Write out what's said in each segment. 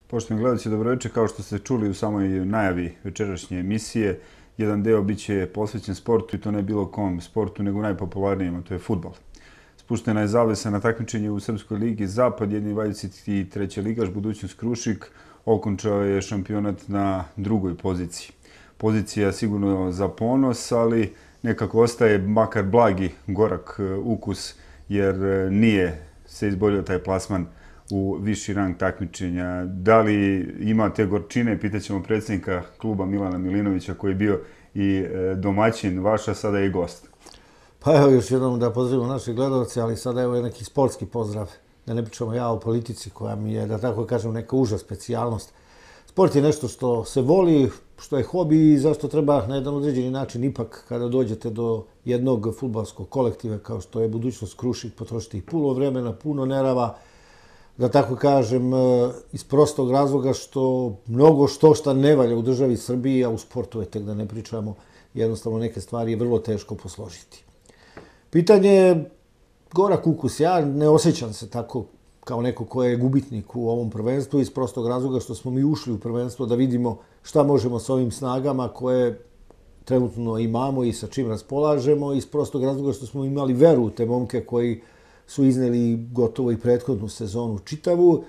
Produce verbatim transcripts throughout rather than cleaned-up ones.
Poštovani gledalci, dobroveče. Kao što ste čuli u samoj najavi večerašnje emisije, jedan deo biće posvećen sportu i to ne bilo kom sportu, nego najpopularnijem, a to je fudbal. Spuštena je zavesa na takmičenje u Srpskoj ligi Zapad, jedni dvadeset treći ligaš, budućnost Krušik, okončao je šampionat na drugoj poziciji. Pozicija sigurno za ponos, ali nekako ostaje makar blagi gorak ukus, jer nije se izborio taj plasman u viši rang takmičenja. Da li ima te gorčine, pitaćemo predsjednika kluba Milana Milinovića, koji je bio i domaćin vaša, sada je i gost. Pa evo još jednom da pozdravimo naše gledalce, ali sada evo je neki sportski pozdrav. Da ne pričamo ja o politici koja mi je, da tako kažem, neka uža specijalnost. Sport je nešto što se voli, što je hobi i zašto treba na jedan određeni način ipak kada dođete do jednog fudbalskog kolektiva kao što je budućnost Krušik potrošiti puno vremena, puno nerava, da tako kažem, iz prostog razloga što mnogo što šta ne valja u državi Srbiji, a u sportu je tek da ne pričamo, jednostavno neke stvari je vrlo teško posložiti. Pitanje je gorak ukus. Ja ne osjećam se tako kao neko ko je gubitnik u ovom prvenstvu iz prostog razloga što smo mi ušli u prvenstvo da vidimo šta možemo s ovim snagama koje trenutno imamo i sa čim raspolažemo, iz prostog razloga što smo imali veru u te momke koji su izneli gotovo i prethodnu sezonu čitavu.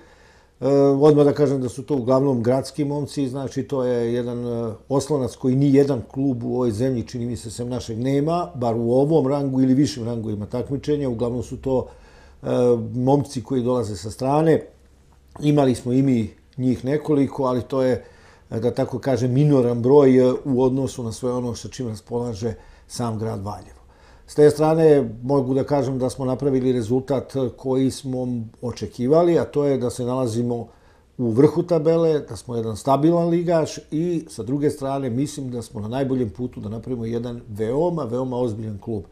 E, odmah da kažem da su to uglavnom gradski momci, znači to je jedan oslonac koji ni jedan klub u ovoj zemlji, čini mi se, sem našeg nema, bar u ovom rangu ili višim rangovima takmičenja. Uglavnom su to e, momci koji dolaze sa strane. Imali smo i mi njih nekoliko, ali to je, da tako kažem, minoran broj u odnosu na sve ono sa čim raspolaže sam grad Valjevo. S te strane mogu da kažem da smo napravili rezultat koji smo očekivali, a to je da se nalazimo u vrhu tabele, da smo jedan stabilan ligaš i sa druge strane mislim da smo na najboljem putu da napravimo jedan veoma, veoma ozbiljan klub.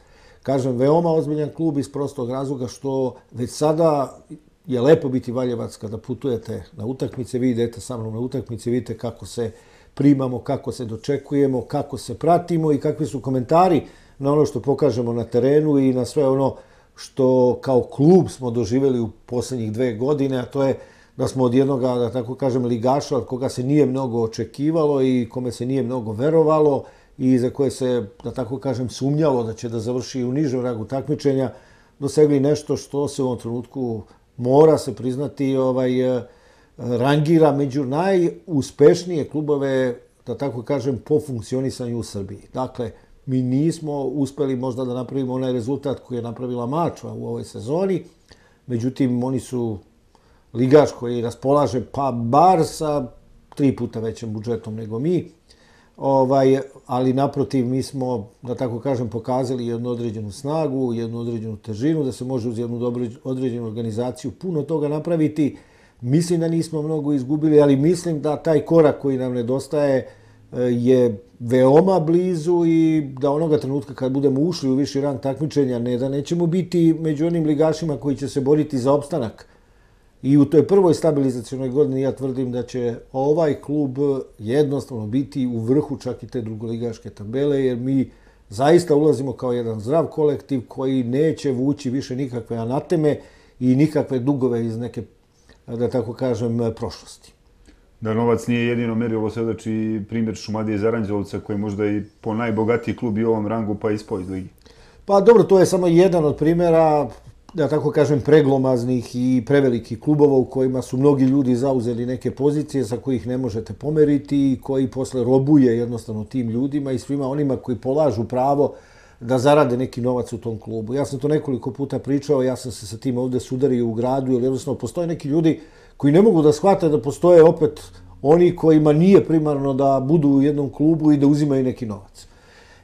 Kažem veoma ozbiljan klub iz prostog razloga što već sada je lepo biti Valjevac kada putujete na utakmice, vi idete sa mnom na utakmice, vidite kako se primamo, kako se dočekujemo, kako se pratimo i kakvi su komentari na ono što pokažemo na terenu i na sve ono što kao klub smo doživjeli u posljednjih dve godine, a to je da smo od jednog, da tako kažem, ligaša od koga se nije mnogo očekivalo i kome se nije mnogo verovalo i za koje se, da tako kažem, sumnjalo da će da završi u nižem rangu takmičenja, dosegli nešto što se u ovom trenutku mora se priznati ovaj, rangira među najuspešnije klubove, da tako kažem, po funkcionisanju u Srbiji. Dakle, mi nismo uspeli možda da napravimo onaj rezultat koji je napravila Mačva u ovoj sezoni. Međutim, oni su ligaš koji raspolaže pa bar sa tri puta većim budžetom nego mi. Ovaj, ali naprotiv, mi smo, da tako kažem, pokazali jednu određenu snagu, jednu određenu težinu, da se može uz jednu određenu organizaciju puno toga napraviti. Mislim da nismo mnogo izgubili, ali mislim da taj korak koji nam nedostaje je veoma blizu i da onoga trenutka kad budemo ušli u viši rang takmičenja, ne da nećemo biti među onim ligašima koji će se boriti za opstanak. I u toj prvoj stabilizacionoj godini ja tvrdim da će ovaj klub jednostavno biti u vrhu čak i te drugoligaške tabele, jer mi zaista ulazimo kao jedan zdrav kolektiv koji neće vući više nikakve anateme i nikakve dugove iz neke, da tako kažem, prošlosti. Da novac nije jedino merilo, svedoči i primjer Šumadije iz Aranđelovca, koji je možda i po najbogatiji klub i u ovom rangu, pa ispao iz ligi. Pa dobro, to je samo jedan od primjera, da tako kažem, preglomaznih i prevelikih klubova u kojima su mnogi ljudi zauzeli neke pozicije sa kojih ne možete pomeriti i koji posle robuje jednostavno tim ljudima i svima onima koji polažu pravo da zarade neki novac u tom klubu. Ja sam to nekoliko puta pričao, ja sam se sa tim ovdje sudario u gradu, jer jednostavno postoje neki ljudi koji ne mogu da shvate da postoje opet oni kojima nije primarno da budu u jednom klubu i da uzimaju neki novac.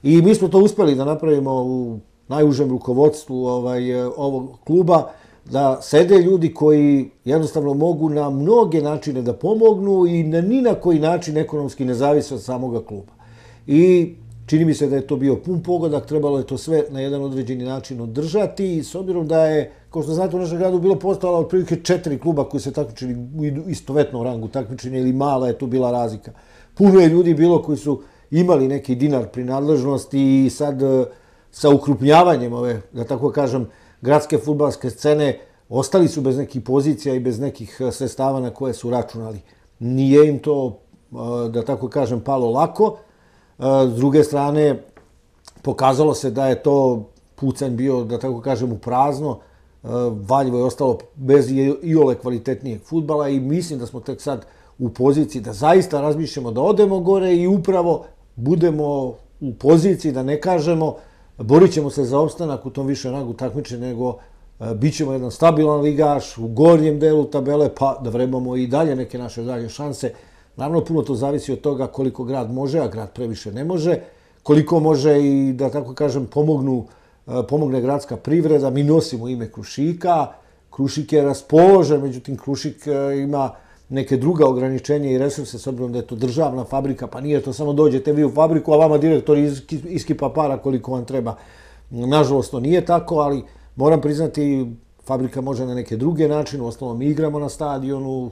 I mi smo to uspjeli da napravimo u najužem rukovodstvu ovaj, ovog kluba, da sede ljudi koji jednostavno mogu na mnoge načine da pomognu i na ni na koji način ekonomski ne zavise od samoga kluba. I čini mi se da je to bio pun pogodak, trebalo je to sve na jedan određeni način održati i s obzirom da je, kao što znate, u našem gradu bilo postojala otprilike četiri kluba koji se takmičili u istovetnom rangu takmičenja ili mala je tu bila razlika. Puno je ljudi bilo koji su imali neki dinar pri nadležnosti i sad sa ukrupnjavanjem ove, da tako kažem, gradske fudbalske scene ostali su bez nekih pozicija i bez nekih sredstava na koje su računali. nije im to, da tako kažem, palo lako. S druge strane, pokazalo se da je to pucanj bio, da tako kažem, u prazno. Valjevo je ostalo bez iole kvalitetnijeg fudbala i mislim da smo tek sad u poziciji da zaista razmišljamo da odemo gore i upravo budemo u poziciji da ne kažemo borit ćemo se za opstanak u tom više rangu takmičenja, nego bit ćemo jedan stabilan ligaš u gornjem delu tabele, pa da vrebamo i dalje neke naše dalje šanse. Naravno, puno to zavisi od toga koliko grad može, a grad previše ne može, koliko može i, da tako kažem, pomognu, pomogne gradska privreda. Mi nosimo ime Krušika, Krušik je raspoložen, međutim Krušik ima neke druga ograničenja i resurse, s obzirom da je to državna fabrika, pa nije to samo dođete vi u fabriku, a vama direktor iskipa para koliko vam treba. Nažalost, to nije tako, ali moram priznati, fabrika može na neke druge načine, u osnovom mi igramo na stadionu,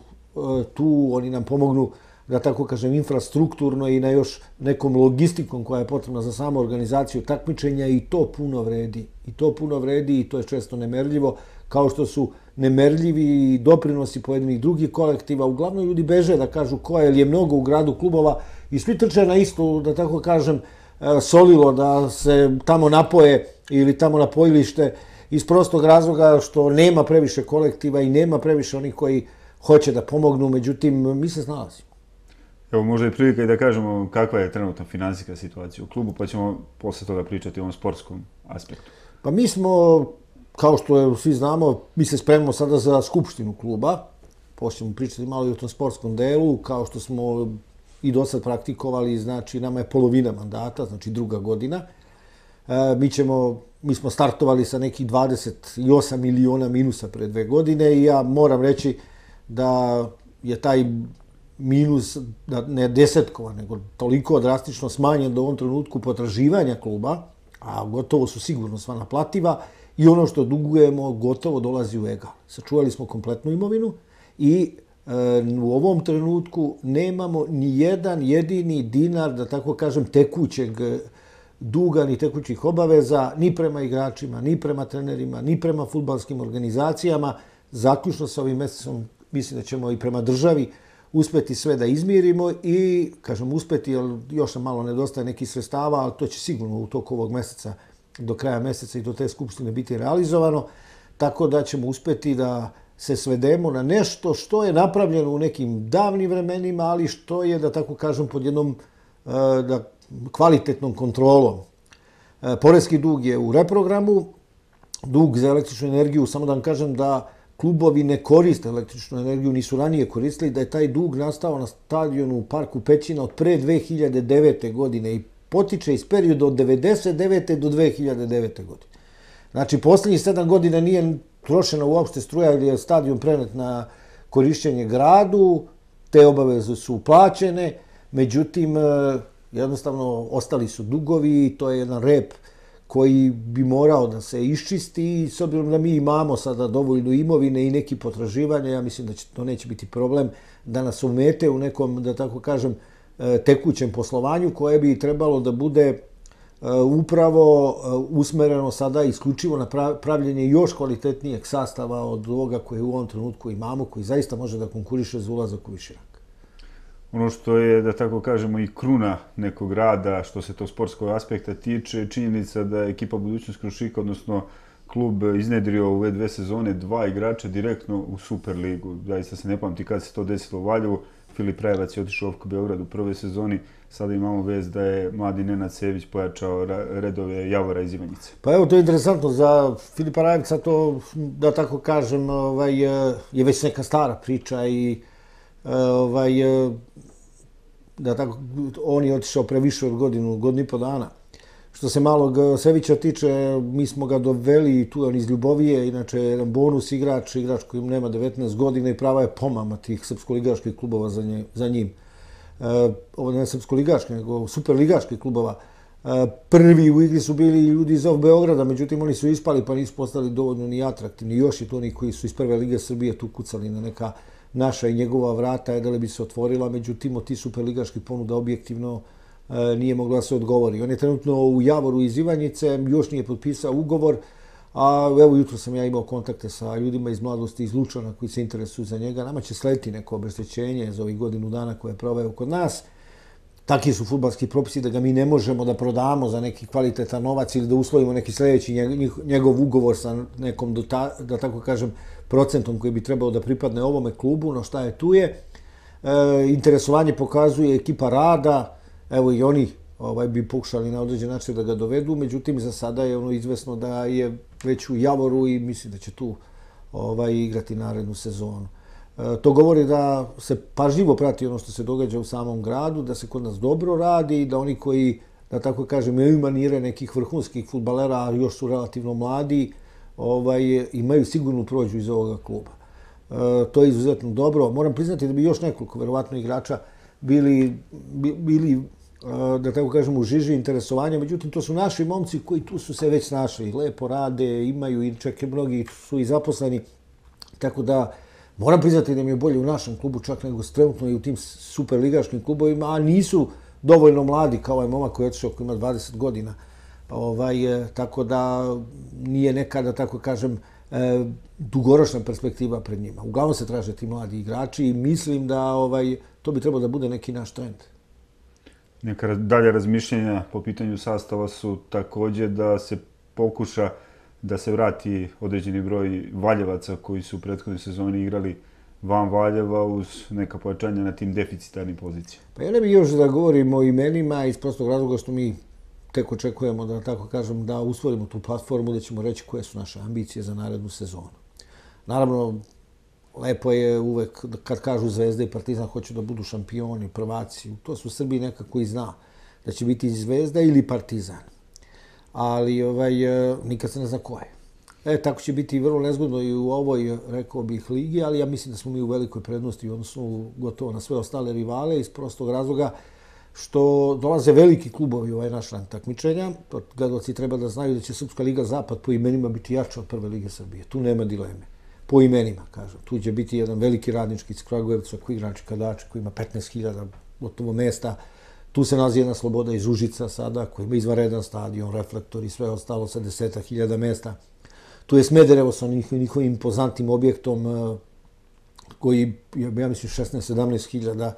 tu oni nam pomognu, da tako kažem, infrastrukturno i na još nekom logistikom koja je potrebna za samu organizaciju takmičenja i to puno vredi. I to puno vredi i to je često nemerljivo, kao što su nemerljivi i doprinosi pojedinih drugih kolektiva. Uglavnom ljudi beže da kažu ko je, jer je mnogo u gradu klubova i svi trče na isto, da tako kažem, solilo, da se tamo napoje ili tamo napojilište, iz prostog razloga što nema previše kolektiva i nema previše onih koji hoće da pomognu, međutim, mi se snalazimo. Evo, možda je prilika i da kažemo kakva je trenutna finansijska situacija u klubu, pa ćemo posle toga pričati o ovom sportskom aspektu. Pa mi smo, kao što svi znamo, mi se spremamo sada za skupštinu kluba, poslije ćemo pričati malo i o tom sportskom delu, kao što smo i do sad praktikovali, znači nama je polovina mandata, znači druga godina. Mi ćemo, mi smo startovali sa nekih dvadeset osam miliona minusa pre dve godine i ja moram reći da je taj minus, ne desetkovan, nego toliko drastično smanjen do ovom trenutku potraživanja kluba, a gotovo su sigurno sva naplativa, i ono što dugujemo gotovo dolazi u egal. Sačuvali smo kompletnu imovinu i u ovom trenutku nemamo ni jedan jedini dinar, da tako kažem, tekućeg duga, ni tekućih obaveza, ni prema igračima, ni prema trenerima, ni prema fudbalskim organizacijama. Zaključno sa ovim mesecom mislim da ćemo i prema državi uspeti sve da izmirimo i, kažem, uspeti, jer još nam malo nedostaje nekih sredstava, ali to će sigurno u toku ovog meseca, do kraja meseca i do te skupštine biti realizovano, tako da ćemo uspeti da se svedemo na nešto što je napravljeno u nekim davnim vremenima, ali što je, da tako kažem, pod jednom da, kvalitetnom kontrolom. Poreski dug je u reprogramu, dug za električnu energiju, samo da vam kažem da klubovi ne koriste električnu energiju, nisu ranije koristili, da je taj dug nastao na stadionu u Parku Pećina od pre dve hiljade devete. godine i potiče iz perioda od devedeset devete. do dve hiljade devete. godine. Znači, posljednjih sedam godina nije trošena uopšte struja ili je stadion prenet na korišćenje gradu, te obaveze su plaćene, međutim, jednostavno ostali su dugovi i to je jedan rep koji bi morao da se iščisti i s obzirom da mi imamo sada dovoljno imovine i neki potraživanja, ja mislim da će, to neće biti problem da nas umete u nekom, da tako kažem, tekućem poslovanju koje bi trebalo da bude upravo usmereno sada isključivo na pravljenje još kvalitetnijeg sastava od ovoga koje u ovom trenutku imamo, koji zaista može da konkuriše za ulazak u viši rang. Ono što je, da tako kažemo, i kruna nekog rada, što se to sportskog aspekta tiče, činjenica da je ekipa Budućnost Krušika, odnosno klub, iznedrio u ove dve sezone dva igrača direktno u Superligu. Zaista se ne pamti kad se to desilo u Valjevu. Filip Rajevac je otišao u Beograd u prvoj sezoni. Sada imamo vez da je mladi Nenad Sević pojačao redove Javora iz Ivanjice. Pa evo, to je interesantno za Filipa Rajevca, to, da tako kažem, ovaj, je već neka stara priča i ovaj, da tako, on je otišao pre više od godinu, godinu i po dana. Što se malog Sevića tiče, mi smo ga doveli, tu je on iz Ljubovije, inače je jedan bonus igrač, igrač koji nema devetnaest godina i prava je pomama tih srpsko-ligaških klubova za, nje, za njim. E, ovo ne srpsko-ligaških, nego superligaških klubova. E, prvi u igri su bili ljudi iz ovog Beograda, međutim oni su ispali pa nisu postali dovoljno ni atraktivni. Još i to oni koji su iz prve lige Srbije tu kucali na neka naša i njegova vrata, je da li bi se otvorila, međutim od tih superligaških ponuda objektivno nije mogla da se odgovori. On je trenutno u Javoru iz Ivanjice, još nije potpisao ugovor, A evo, jutro sam ja imao kontakte sa ljudima iz mladosti iz Lučana koji se interesuju za njega. Nama će slediti neko obeštećenje za ovih godinu dana koje je proveo kod nas. Takvi su fudbalski propisi da ga mi ne možemo da prodamo za neki kvalitetan novac ili da uslovimo neki sljedeći njegov ugovor sa nekom, da tako kažem, procentom koji bi trebao da pripadne ovome klubu, no šta je tu je. E, interesovanje pokazuje ekipa rada, evo i oni ovaj, bi pokušali na određen način da ga dovedu, međutim za sada je ono izvesno da je već u Javoru i mislim da će tu ovaj, igrati narednu sezonu. E, to govori da se pažljivo prati ono što se događa u samom gradu, da se kod nas dobro radi i da oni koji, da tako kažem, imaju manire nekih vrhunskih fudbalera, a još su relativno mladi, ovaj, imaju sigurnu prođu iz ovoga kluba. E, to je izuzetno dobro. Moram priznati da bi još nekoliko, verovatno, igrača bili, bili da tako kažem, u žiži interesovanja. Međutim, to su naši momci koji tu su se već snašli. Lepo rade, imaju i čak i mnogi su i zaposleni. Tako da, moram priznati da mi je bolje u našem klubu čak nego trenutno i u tim superligaškim klubovima, a nisu dovoljno mladi kao ovaj momak koji je otišao, koji ima dvadeset godina. Ovaj, tako da nije neka, da tako kažem, e, dugoročna perspektiva pred njima. Uglavnom se traže ti mladi igrači i mislim da ovaj, to bi trebalo da bude neki naš trend. Neka dalje razmišljenja po pitanju sastava su također da se pokuša da se vrati određeni broj Valjevaca koji su u prethodnoj sezoni igrali van Valjeva uz neka pojačanja na tim deficitarnim pozicijama. Pa ja ne bih još da govorim o imenima iz prostog razloga što mi tek očekujemo, da tako kažem, da usvojimo tu platformu, da ćemo reći koje su naše ambicije za narednu sezonu. Naravno, lepo je uvek kad kažu Zvezda i Partizan hoću da budu šampioni, prvaci. To su Srbiji nekako i zna da će biti Zvezda ili Partizan. Ali ovaj, nikad se ne zna ko je. E, tako će biti vrlo nezgodno i u ovoj, rekao bih, ligi, ali ja mislim da smo mi u velikoj prednosti, odnosno gotovo na sve ostale rivale iz prostog razloga što dolaze veliki klubovi u ovaj naš rang takmičenja. Gledalci treba da znaju da će Srpska liga Zapad po imenima biti jača od Prve lige Srbije. Tu nema dileme. Po imenima, kažem. Tu će biti jedan veliki radnički iz Kragujevca koji igra Čikadač, koji ima petnaest hiljada gotovo mesta. Tu se nalazi jedna Sloboda iz Užica sada, koji ima izvanredan stadion, reflektor i sve ostalo sa desetak hiljada mesta. Tu je Smederevo sa njihovim impozantnim objektom koji, ja mislim, šesnaest sedamnaest hiljada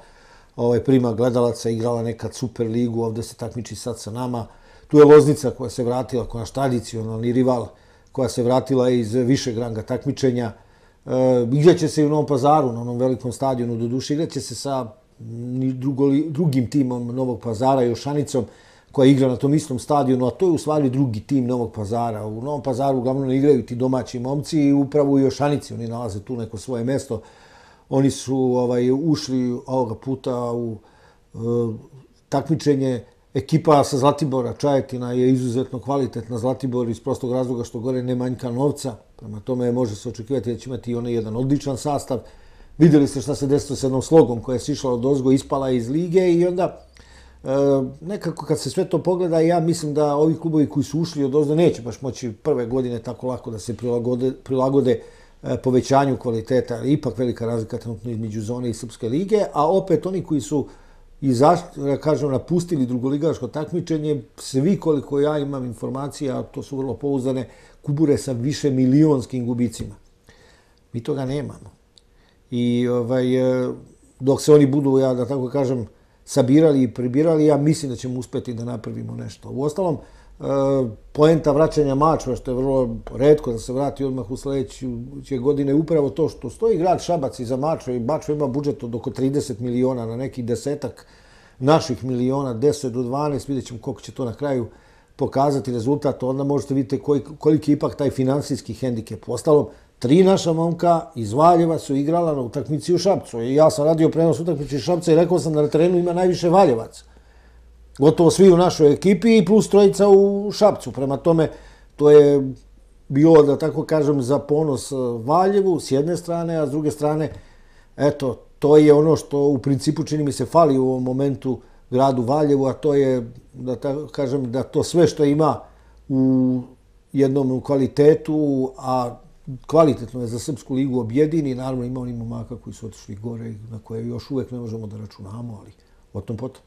ovaj, prima gledalaca, igrala nekad Super ligu, ovdje se takmiči sad sa nama. Tu je Loznica koja se vratila, koja naš tradicionalni rival, koja se vratila iz višeg ranga takmičenja. E, igraće se i u Novom Pazaru, na onom velikom stadionu, do duše igraće se sa drugo, drugim timom Novog Pazara, Jošanicom, koja igra na tom istom stadionu, a to je u stvari drugi tim Novog Pazara. U Novom Pazaru uglavnom ne igraju ti domaći momci i upravo u Jošanici oni nalaze tu neko svoje mesto. Oni su ovaj, ušli ovoga puta u e, takmičenje. Ekipa sa Zlatibora, Čajetina, je izuzetno kvalitetna. Zlatibor iz prostog razloga što gore ne manjka novca. Prema tome može se očekivati da će imati onaj jedan odličan sastav. Vidjeli ste šta se desilo s jednom Slogom koja je sišla od ozgo, ispala iz lige i onda e, nekako kad se sve to pogleda, ja mislim da ovi klubovi koji su ušli od ozgo neće baš moći prve godine tako lako da se prilagode, prilagode e, povećanju kvaliteta. Ipak velika razlika trenutno između zone i Srpske lige, a opet oni koji su i zašto, ja kažem, napustili drugoligaško takmičenje, svi koliko ja imam informacija, to su vrlo pouzdane, kubure sa više milionskim gubicima. Mi toga nemamo. I ovaj, dok se oni budu, ja da tako kažem, sabirali i pribirali, ja mislim da ćemo uspeti da napravimo nešto. U ostalom, poenta vraćanja Mačva, što je vrlo retko da se vrati odmah u sljedeće godine, upravo to što stoji grad Šabac iza Mačva i Mačva ima budžet od oko trideset miliona na neki desetak naših miliona, deset do dvanaest, vidjet ćemo koliko će to na kraju pokazati rezultat, onda možete vidjeti koliki je ipak taj finansijski hendikep. Ostalom, tri naša momka iz Valjeva su igrala na utakmici u Šapcu. I ja sam radio prenos utakmici u Šapca i rekao sam da na terenu ima najviše Valjevaca. Gotovo svi u našoj ekipi i plus trojica u Šapcu. Prema tome, to je bilo, da tako kažem, za ponos Valjevu s jedne strane, a s druge strane, eto, to je ono što u principu čini mi se fali u ovom momentu gradu Valjevu, a to je, da tako kažem, da to sve što ima u jednom kvalitetu, a kvalitetno je za Srpsku ligu objedini, naravno ima oni momaka koji su otišli gore, na koje još uvek ne možemo da računamo, ali o tom potom.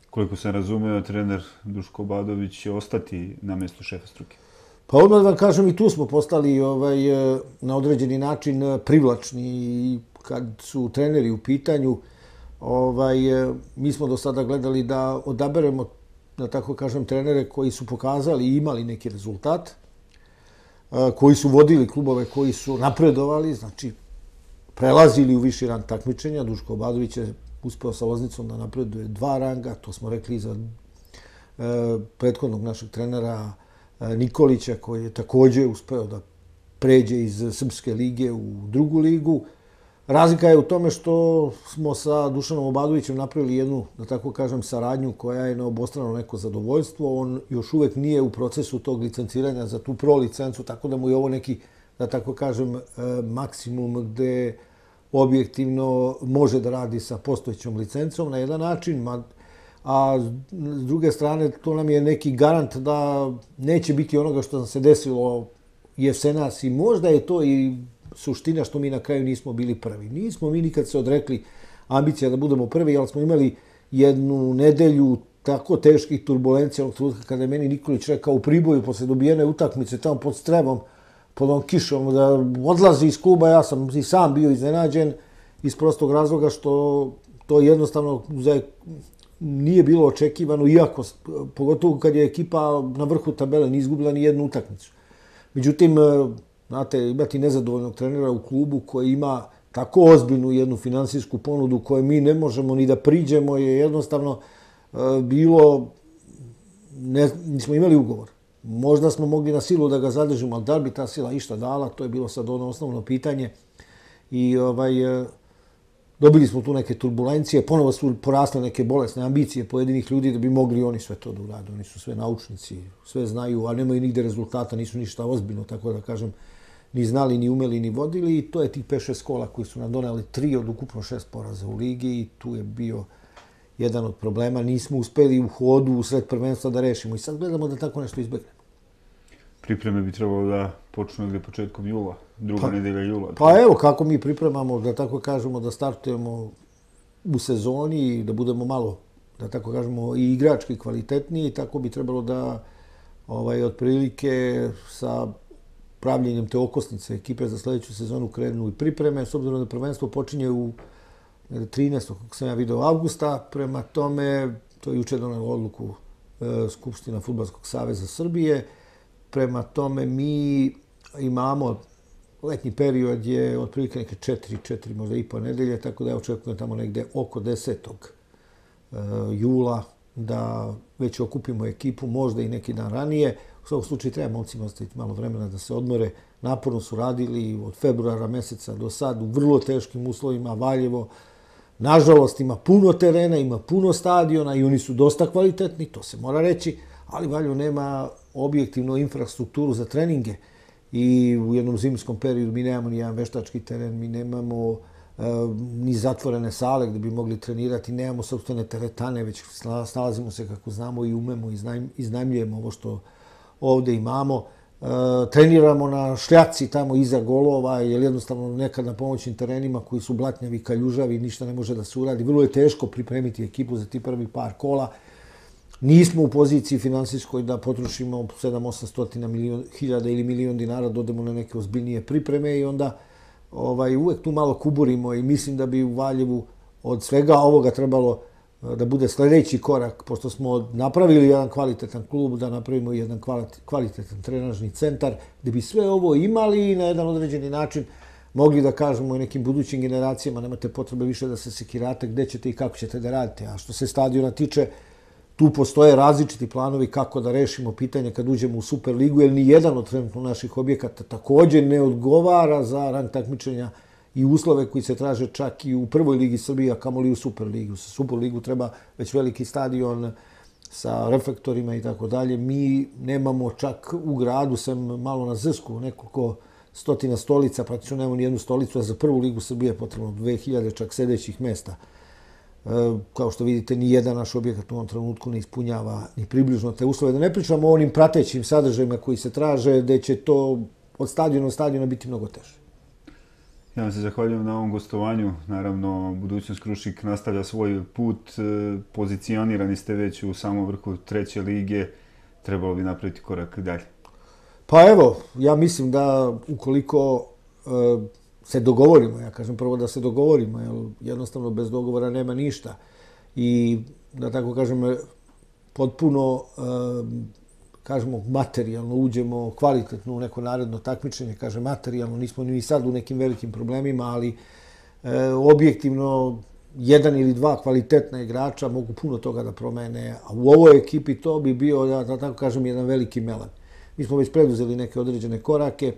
Koliko sam razumeo, trener Duško Obradović će ostati na mjestu šefa struke. Pa odmah da vam kažem, i tu smo postali ovaj, na određeni način privlačni i kad su treneri u pitanju, ovaj, mi smo do sada gledali da odaberemo, da tako kažem, trenere koji su pokazali i imali neki rezultat, koji su vodili klubove, koji su napredovali, znači prelazili u viši rang takmičenja. Duško Obradović je uspeo sa Loznicom da napreduje dva ranga, to smo rekli za prethodnog našeg trenera Nikolića, koji je također uspeo da pređe iz Srpske lige u drugu ligu. Razlika je u tome što smo sa Dušanom Obradovićem napravili jednu, da tako kažem, saradnju koja je na obostrano neko zadovoljstvo. On još uvek nije u procesu tog licenciranja za tu pro licencu, tako da mu je ovo neki, da tako kažem, maksimum gde objektivno može da radi sa postojećom licencom na jedan način, a s druge strane to nam je neki garant da neće biti onoga što nam se desilo jesenas i možda je to i suština što mi na kraju nismo bili prvi. Nismo mi nikad se odrekli ambicija da budemo prvi, ali smo imali jednu nedelju tako teških turbulencija onog trenutka kada je meni Nikolić rekao u Priboju posle dobijene utakmice tamo pod Strebom, pod ovom kišom, da odlazi iz kluba. Ja sam i sam bio iznenađen iz prostog razloga što to jednostavno nije bilo očekivano, iako, pogotovo kad je ekipa na vrhu tabele, nije izgubila ni jednu utakmicu. Međutim, znate, imati nezadovoljnog trenera u klubu koji ima tako ozbiljnu jednu finansijsku ponudu koju mi ne možemo ni da priđemo je jednostavno bilo, ne, nismo imali ugovor. Možda smo mogli na silu da ga zadržimo, ali da li bi ta sila išta dala, to je bilo sad ono osnovno pitanje. I ovaj, dobili smo tu neke turbulencije, ponovo su porasle neke bolesne ambicije pojedinih ljudi da bi mogli oni sve to da urade. Oni su sve naučnici, sve znaju, a nemaju nigde rezultata, nisu ništa ozbiljno, tako da kažem, ni znali, ni umeli, ni vodili. I to je tih pet šest kola koji su nam doneli tri od ukupno šest poraza u ligi i tu je bio jedan od problema. Nismo uspeli u hodu, u sred prvenstva da rešimo i sad gledamo da tako nešto izbegnemo. Pripreme bi trebalo da počnu negde početkom jula, druga nedelja jula. Pa evo kako mi pripremamo, da tako kažemo, da startujemo u sezoni i da budemo malo, da tako kažemo, i igrački kvalitetniji, tako bi trebalo da ovaj, otprilike sa pravljenjem te okosnice ekipe za sledeću sezonu krenu i pripreme, s obzirom da prvenstvo počinje u trinaestog kako sam ja video, avgusta. Prema tome, to je juče donela odluku e, Skupština Fudbalskog saveza Srbije. Prema tome, mi imamo, letnji period je otprilike neke četiri, četiri, možda i po nedelje, tako da ja očekujem tamo negde oko desetog jula da već okupimo ekipu, možda i neki dan ranije. U svakom slučaju treba momcima ostaviti malo vremena da se odmore. Naporno su radili od februara meseca do sad u vrlo teškim uslovima. Valjevo, nažalost, ima puno terena, ima puno stadiona i oni su dosta kvalitetni, to se mora reći, ali Valjevo nema objektivnu infrastrukturu za treninge i u jednom zimskom periodu mi nemamo ni jedan veštački teren, mi nemamo uh, ni zatvorene sale gde bi mogli trenirati, nemamo sopstvene teretane, već snalazimo se kako znamo i umemo, iznajmljujemo ovo što ovde imamo. Uh, treniramo na šljaci tamo iza golova, jer jednostavno nekad na pomoćnim terenima koji su blatnjavi, kaljužavi, ništa ne može da se uradi. Vrlo je teško pripremiti ekipu za ti prvi par kola. Nismo u poziciji finansijskoj da potrošimo sedam osam hiljada ili milion dinara, dodemo na neke ozbiljnije pripreme i onda ovaj, uvek tu malo kuburimo i mislim da bi u Valjevu od svega ovoga trebalo da bude sledeći korak, pošto smo napravili jedan kvalitetan klub, da napravimo jedan kvalitetan trenažni centar, gde bi sve ovo imali i na jedan određeni način mogli da kažemo i nekim budućim generacijama, nemate potrebe više da se sekirate gde ćete i kako ćete da radite. A što se stadiona tiče, tu postoje različiti planovi kako da rešimo pitanje kad uđemo u Superligu, jer ni jedan od trenutno naših objekata također ne odgovara za rang takmičenja i uslove koji se traže čak i u prvoj ligi Srbije, a kamoli u Superligu. Sa Superligu treba već veliki stadion sa reflektorima i tako dalje. Mi nemamo čak u gradu, sem malo na Zrsku, nekoliko stotina stolica, praktično nemamo ni jednu stolicu, a za prvu ligu Srbije je potrebno dve hiljade čak sedećih mesta. Kao što vidite, ni jedan naš objekat u ovom trenutku ne ispunjava ni približno te uslove. Da ne pričamo o onim pratećim sadržajima koji se traže, gde će to od stadiona do stadiona biti mnogo teže. Ja vam se zahvaljujem na ovom gostovanju. Naravno, Budućnost Krušik nastavlja svoj put. Pozicionirani ste već u samom vrhu treće lige. Trebalo bi napraviti korak dalje. Pa evo, ja mislim da ukoliko e, se dogovorimo, ja kažem prvo da se dogovorimo, jer jednostavno bez dogovora nema ništa. I da tako kažem, potpuno, e, kažemo, materijalno uđemo kvalitetno u neko naredno takmičenje, kažem materijalno, nismo ni sad u nekim velikim problemima, ali e, objektivno jedan ili dva kvalitetna igrača mogu puno toga da promene, a u ovoj ekipi to bi bio, ja da tako kažem, jedan veliki melan. Mi smo već preduzeli neke određene korake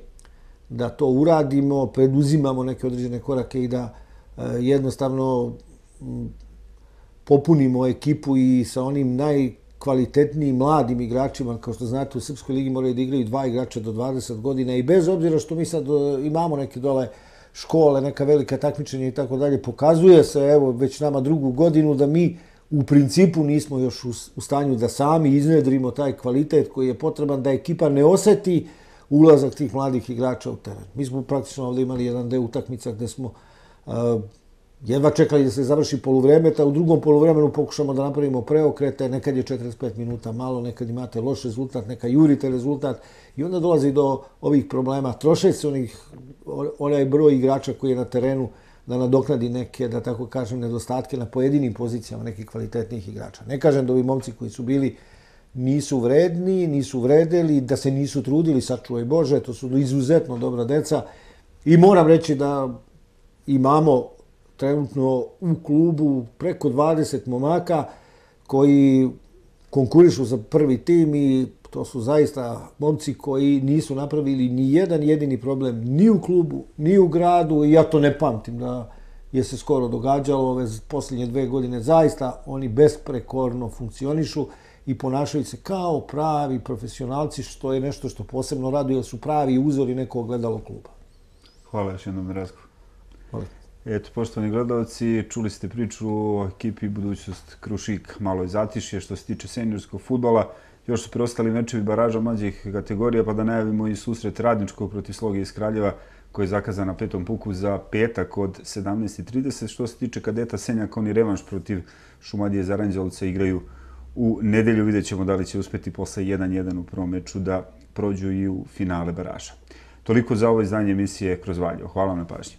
da to uradimo, preduzimamo neke određene korake i da e, jednostavno m, popunimo ekipu i sa onim najkvalitetnijim mladim igračima. Kao što znate, u Srpskoj ligi moraju da igraju dva igrača do dvadeset godina i bez obzira što mi sad imamo neke dole škole, neka velika takmičenja i tako dalje, pokazuje se, evo, već nama drugu godinu da mi u principu nismo još u stanju da sami iznedrimo taj kvalitet koji je potreban da ekipa ne oseti ulazak tih mladih igrača u teren. Mi smo praktično ovdje imali jedan deo utakmica gde smo uh, jedva čekali da se završi poluvreme, a u drugom poluvremenu pokušamo da napravimo preokrete, nekad je četrdeset pet minuta malo, nekad imate loš rezultat, nekad jurite rezultat i onda dolazi do ovih problema. Troše se onih, onaj broj igrača koji je na terenu da nadoknadi neke, da tako kažem, nedostatke na pojedinim pozicijama nekih kvalitetnih igrača. Ne kažem da ovi momci koji su bili nisu vredni, nisu vredeli, da se nisu trudili, sačuvaj Bože, to su izuzetno dobra deca i moram reći da imamo trenutno u klubu preko dvadeset momaka koji konkurišu za prvi tim i to su zaista momci koji nisu napravili ni jedan jedini problem ni u klubu, ni u gradu i ja to ne pamtim da je se skoro događalo ove posljednje dve godine. Zaista oni besprekorno funkcionišu i ponašaju se kao pravi profesionalci, što je nešto što posebno raduje, jer su pravi uzori nekog gledalo kluba. Hvala još jednom, Razko. Hvala. Eto, poštovani gledalci, čuli ste priču o ekipi Budućnost Krušik, malo je zatišje što se tiče seniorskog fudbala. Još su preostali mečevi baraža mlađih kategorija, pa da najavimo i susret Radničkog protiv Sloge iz Kraljeva, koji je zakazan na Petom puku za petak od sedamnaest i trideset. Što se tiče kadeta Senjaka, oni revanš protiv Šumadije iz Aranđelovca igraju u nedelju. Vidjet ćemo da li će uspeti posle jedan jedan u prvom meču da prođu i u finale baraža. Toliko za ovo izdanje emisije Kroz Valjevo. Hvala vam na pažnji.